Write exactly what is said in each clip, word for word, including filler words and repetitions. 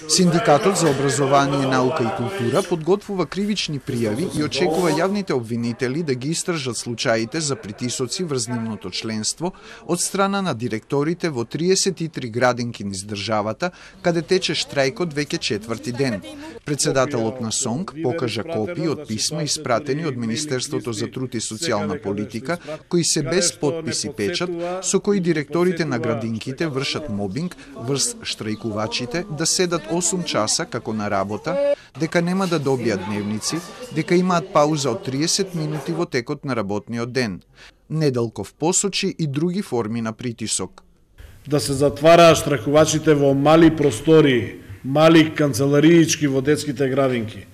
Синдикатот за образование, наука и култура подготвува кривични пријави и очекува јавните обвинители да ги истражат случаите за притисоци врз нивното членство од страна на директорите во триесет и три градинки низ државата, каде тече штрајкот веќе четврти ден. Председателот на СОНК покажа копии од писма испратени од Министерството за труд и социјална политика, кои се без подпис и печат, со кои директорите на градинките вршат мобинг врз штрајкувачите да седат осум часа како на работа, дека нема да добијат дневници, дека имаат пауза од триесет минути во текот на работниот ден. Неделков посочи и други форми на притисок. Да се затвараат штрајкувачите во мали простори, мали канцелариички во детските градинки,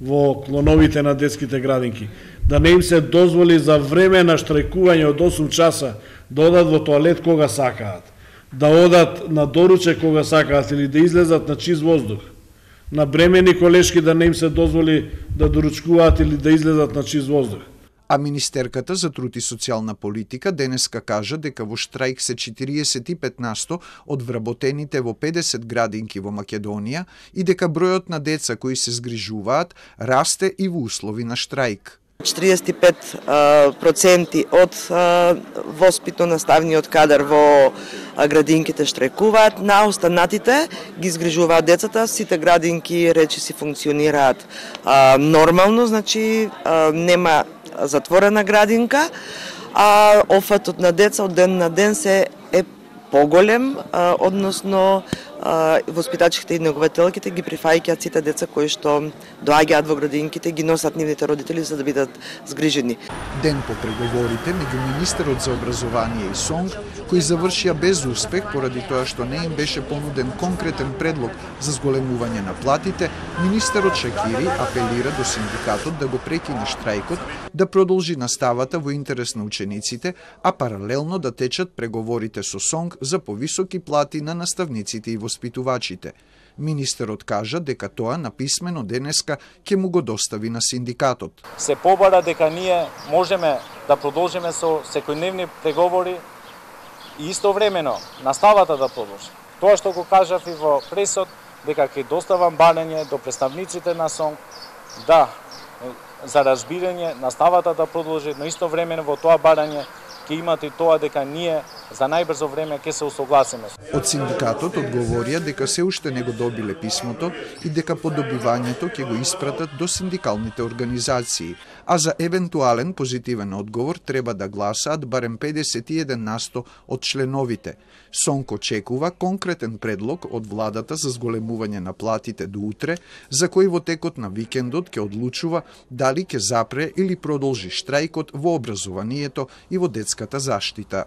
во клоновите на детските градинки, да не им се дозволи за време на штрајкување од осум часа да одат во тоалет кога сакаат, да одат на доруче кога сакаат или да излезат на чист воздух. На бремени колешки да не им се дозволи да доручкуваат или да излезат на чист воздух. А министерката за труд и социјална политика денеска кажа дека во штрајк се четириесет и пет насто од вработените во педесет градинки во Македонија и дека бројот на деца кои се згрижуваат расте и во услови на штрајк. четириесет и пет проценти од воспитно-наставниот кадар во градинките штрајкуваат, на останатите ги згрижуваат децата, сите градинки речиси функционираат нормално, значи нема затворена градинка, а офатот на деца од ден на ден се е поголем, односно воспитачките и негователките ги прифаќаат сите деца кои што доаѓаат во градинките, ги носат нивните родители за да бидат згрижени. Ден по преговорите меѓу министерот за образование и СОНК, кои завршија без успех поради тоа што не им беше понуден конкретен предлог за зголемување на платите, министерот Шакири апелира до синдикатот да го прекине штрајкот, да продолжи наставата во интерес на учениците, а паралелно да течат преговорите со СОНК за повисоки плати на наставниците и воспитувачите. Министерот кажа дека тоа написмено денеска ќе му го достави на синдикатот. Се побара дека ние можеме да продолжиме со секојдневни преговори и истовремено наставата да продолжи. Тоа што го кажав и во пресот, дека ќе доставам барање до представниците на СОНК да за разбирање наставата да продолжи, но истовремено во тоа барање ќе имате и тоа дека ние за најбрзо време ќе се усогласиме. Од синдикатот одговорија дека се уште не го добиле писмото и дека по добивањето ќе го испратат до синдикалните организации, а за евентуален позитивен одговор треба да гласаат барем педесет и еден насто од членовите. СОНК очекува конкретен предлог од владата за зголемување на платите до утре, за кој во текот на викендот ќе одлучува дали ќе запре или продолжи штрајкот во образованието и во детската заштита.